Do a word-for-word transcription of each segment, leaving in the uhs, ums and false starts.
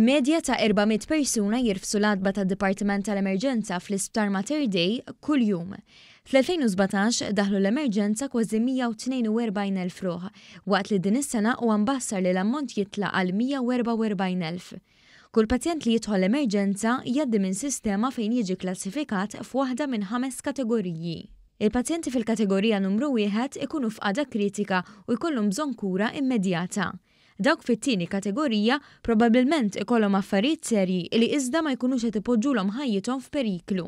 Medja ta' erba' mitt persuna jirfsu l-għatba tad-Dipartiment tal-Emerġenza fl-Isptar Mater Dei kuljum. Fl-elfejn u sbatax daħlu l-emerġenza kważi mija u tnejn u erbgħin elf ruħ, waqt li din is-sena huwa mbassar li l-ammont jitla' għal mija u erbgħa u erbgħin elf. Kull pazjent li jidħol l-emerġenza jgħaddi minn sistema fejn jiġi klassifikat f'waħda minn ħames kategoriji. Il-pazjenti fil-kategorija numru wieħed ikunu f'qagħda kritika u jkollhom bżonn kura immedjata. Dawk fit-tieni kategorija probabbilment ikollhom affarijiet serji li iżda ma jkunux qed ipoġġulhom ħajjithom f'periklu.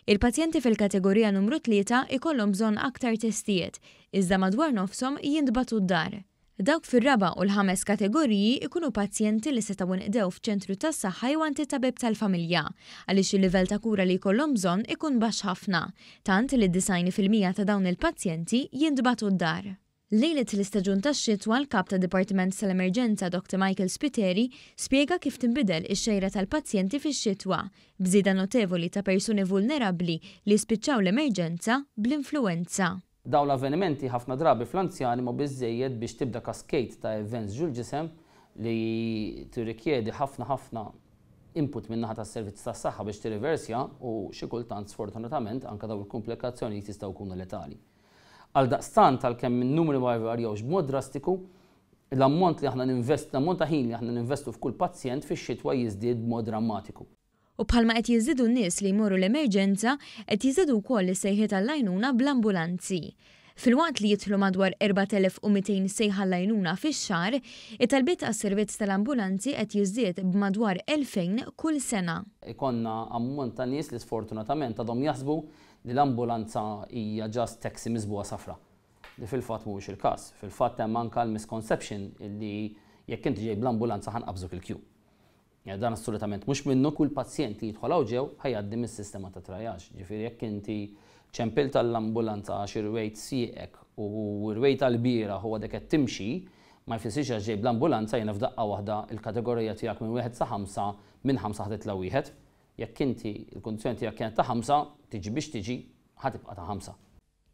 Il-pazjenti fil-kategorija numru tlieta ikollhom bżonn aktar testijiet, iżda madwar nofshom jintbagħtu d-dar. Dawk fir-raba' u l-ħames kategoriji ikunu pazjenti li setgħu nqdew f'ċentru tas-saħħa jew għand it-tabib tal-familja, għaliex il-livell ta' kura li jkollhom bżonn ikun baxx ħafna, tant li disgħin fil-mija ta' dawn il-pazjenti jintbagħtu d-dar. Lejlet l-istaġun tax-xitwa, l-kap ta' Dipartiment tal-Emerġenza Doctor Michael Spiteri spjega kif tinbidel ix-xejra tal-pazjenti fix-xitwa, b'żieda notevoli ta' persuni vulnerabbli li spiċċaw l-emerġenza bl-influenza. Dawn l-avvenimenti ħafna drabi fl-anzjani ma biżejjed biex tibda cascade ta' events ġol-ġisem li tirrikjedi ħafna ħafna input min-naħa tas-servizz tas-saħħa biex tirriversja u xi kultant, sfortunatament, anke dawn il-komplikazzjonijiet jistgħu jkunu letali. Għaldaqstant, għalkemm in-numri ma jvarjawx b'mod drastiku, l-ammont li aħna ninvest, l-ammont ta' ħin li aħna ninvestu f'kull pazjent fix-xitwa jiżdied b'mod drammatiku. U bħalma qed jiżdiedu n-nies li jmorru l-emerġenza, qed jiżdiedu wkoll is-sejħiet għall-għajnuna bl-ambulanzi. Filwaqt li jidħlu madwar erbat elef u mitejn sejħa għall-għajnuna fix-xahar, it-talbiet għas-servizz tal-ambulanzi qed jiżdied b'madwar elfejn kull sena. Ikollna ammont ta' nies li sfortunatament għadhom jaħsbu li l-ambulanza hija just taxi miżbugħa safra. Li fil-fatt mhuwiex il-każ. Fil-fatt hemm anke l-misconception li jekk inti ġej bl-ambulanza ħa nqabżuk il-queue. Dan assolutament mhux minnu. Kull pazjent li jidħol hawn ġew ħa jgħaddi mis-sistema ta' triage. Ġifieri jekk inti ċempilt tal-ambulanza għax irwejt sieqek u rwejt tal-bieraħ u għadek qed timxi, ma jfissirx għax ġej bl-ambulanza jiena f'daqqa waħda il-kategorija tiegħek minn wieħed sa ħamsa, minn ħamsa ħa titla' wieħed. Jekk inti il-kundizzjoni tiegħek kienet ta' ħamsa, tiġi biex tiġi, ħa tibqa' ta' ħamsa.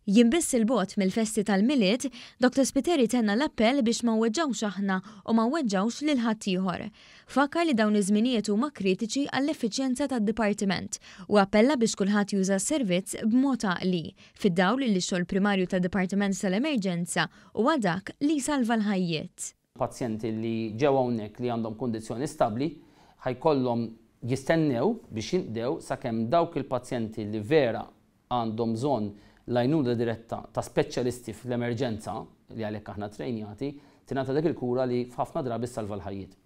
Jiem biss 'il bogħod mill-festi tal-Milied, Doctor Spiteri tenna l-appell biex ma nweġġgħux aħna u ma nweġġgħux lil ħaddieħor. Fakkar li dawn iż-żminijiet huma kritiċi għall-effiċjenza tad-dipartiment u appella biex kulħadd juża s-servizz b'mod għaqli, fid-dawl li x-xogħol primarju tad-Dipartiment tal-Emerġenza huwa dak li jsalva l-ħajjiet. Pazjenti li ġew hawnhekk li għandhom kundizzjoni stabbli ħa jkollhom jistennew biex jinqdew sakemm dawk il-pazjenti li vera għandhom bżonn l-għajnuna diretta ta' speċjalisti fl-emerġenza, li għalhekk aħna trejnjati, tingħata dik il-kura li f'ħafna drabi salva l-ħajjiet.